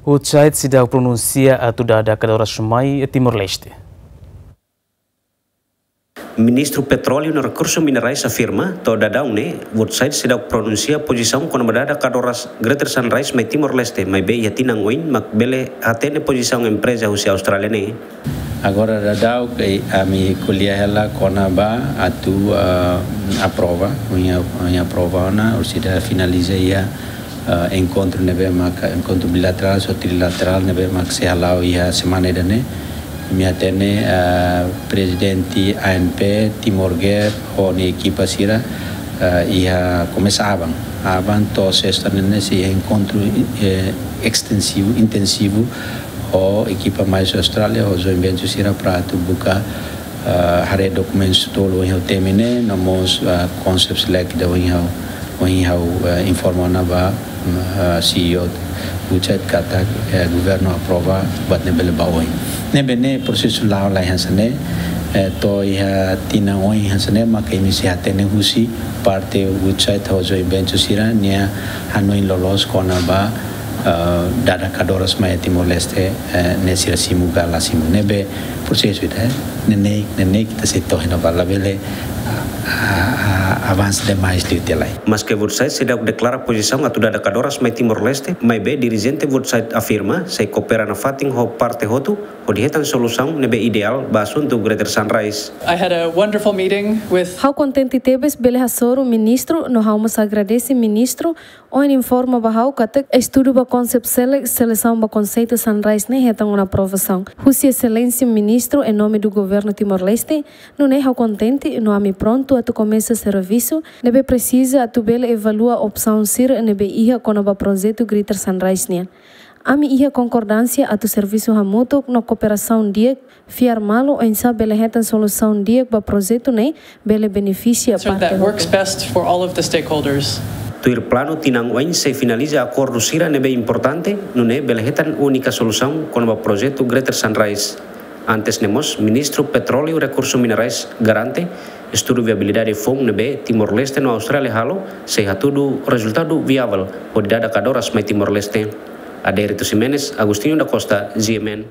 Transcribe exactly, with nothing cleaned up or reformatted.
Woodside seidauk pronunsia atu dada kadoras mai Timor-Leste. Ministru Petróleu no Rekursu Minerais afirma, to'o daudaun ne'e, Woodside seidauk pronunsia pozisaun kona-ba dada kadoras Greater Sunrise mai Timor-Leste, maibé iha tinan oin mak bele hatene pozisaun empreza husi Austrália ne'e. Agora daudaun ke ami ko'alia hela kona-ba atu, ah, aprova, ohin, ohin aprova ona, orsida finaliza iha, ah, enkontru ne'ebé maka enkontru bilaterál ou trilaterál ne'ebé mak sei hala'o iha semana ida-ne'e. Ami hatene, ah, prezidente ANP, Timor Gear, ho nia ekipa sira, ah, iha komesa aban. Aban to'o sesta ne'e sei iha enkontru, eh, estensivu, intensivu, ho ekipa mai husi Austrália, ho joint venture sira para atu buka, ah, haree dokumentus tolu ohin ha'u temi ne'e, no mós, ah, concepts select ida ohin ha'u, ohin ha'u, ah, informa ona ba, mm, ah, C E O Woodside katak, eh, governu aprova, buat ne'e bele ba oin. Ne'ebé ne'e prosesu la'o lai hanesan ne'e, eh, to'o iha tinan oin hanesan ne'e, maka imi sei hatene husi parte Woodside ho joint venture sira nia hanoin loloos kona-ba, eh, dada kadoras mai Timor-Leste, eh, ne'e sira simu ka la simu. Ne'ebé prosesu ida, eh, neineik, neineik ita sei to'o iha ne'ebá, labele, ah, ah, ah, avansa demais liu tiha lai. Maske Woodside seidauk deklara pozisaun atu dada kadoras mai Timor-Leste, maibé dirijente Woodside afirma sei koopera nafatin ho parte hotu, hodi hetan solusaun ne'ebé ideál ba asuntu Greater Sunrise. I had a wonderful meeting with Ha'u kontente tebes bele hasoru ministru, no ha'u mós agradese ministru ohin informa ba ha'u katak estudu ba concept select, selesaun ba konseitu Sunrise ne'e hetan ona aprovasaun husi Exelénsia Ministru em nome do Governo Timor-Leste, nune'e ha'u kontente no ami prontu atu komesa servisu ne'ebé presiza atu bele evalua opsaun sira ne'ebé iha kona-ba projetu Greater Sunrise nian. Ami iha konkordánsia atu servisu hamutuk no kooperasaun di'ak, fiar malu oinsá bele hetan solusaun di'ak ba projetu ne'e bele benefisia So parte that works hotu. Best for all of the stakeholders. Tuir planu tinan oin sei finaliza akordu sira ne'ebé importante, nune'e bele hetan únika solusaun kona-ba projetu Greater Sunrise. Antes ne'e mós, Ministru Petróleu Rekursu Minerais garante, estudu viabilidade foun ne'ebé Timor-Leste no Austrália halo, sei hatudu rezultadu viavel, hodi dada kadoras mai Timor-Leste. Adérito Ximenes, Agostinho da Costa, G M N.